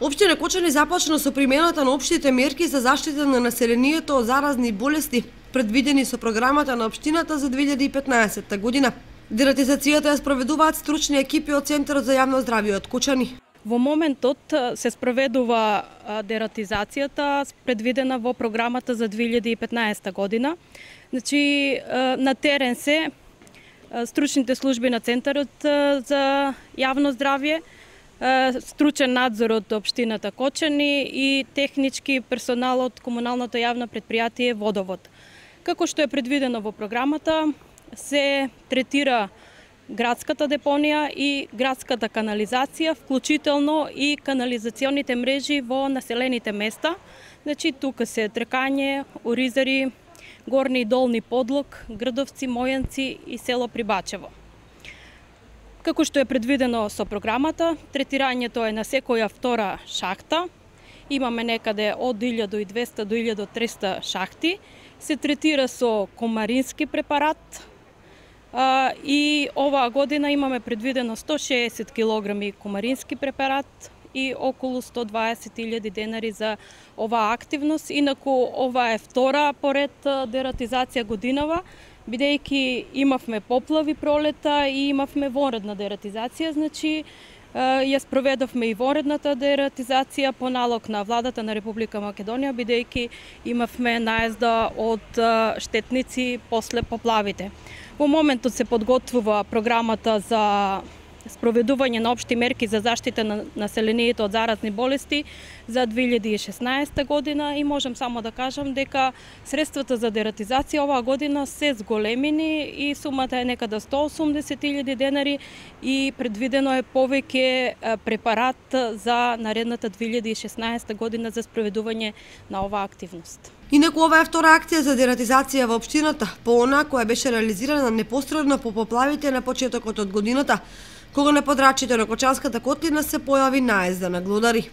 Општина Кочани започна со примената на општите мерки за заштита на населението од заразни болести, предвидени со програмата на општината за 2015 година. Дератизацијата ја спроведуваат стручни екипи од Центарот за јавно здравје од Кочани. Во моментот се спроведува дератизацијата предвидена во програмата за 2015 година. Значи, на терен се стручните служби на Центарот за јавно здравје, стручен надзор од општината Кочани и технички персонал од комуналното јавно претпријатие Водовод. Како што е предвидено во програмата, се третира градската депонија и градската канализација, вклучително и канализационите мрежи во населените места. Значи, тука се Трекање, Оризари, Горни и Долни Подлог, Грдовци, Мојанци и село Прибачево. Како што е предвидено со програмата, третирањето е на секоја втора шахта. Имаме некаде од 1200 до 1300 шахти. Се третира со комарински препарат и оваа година имаме предвидено 160 кг комарински препарат и околу 120.000 денари за оваа активност. Инаку ова е втора поред дератизација годинава, бидејќи имавме поплави пролета и имавме вонредна дератизација, значи ја спроведовме и вонредната дератизација по налог на владата на Република Македонија, бидејќи имавме наезда од штетници после поплавите. Во моментот се подготвува програмата за спроведување на општи мерки за заштита на населението од заразни болести за 2016 година и можем само да кажам дека средствата за дератизација оваа година се зголемени и сумата е некада 180.000 денари и предвидено е повеќе препарат за наредната 2016 година за спроведување на оваа активност. Инаку ова е втора акција за дератизација во општината, по она која беше реализирана непосредно по поплавите на почетокот од годината, кога на подрачјето на Кочанската котлина се појави наезда на глодари.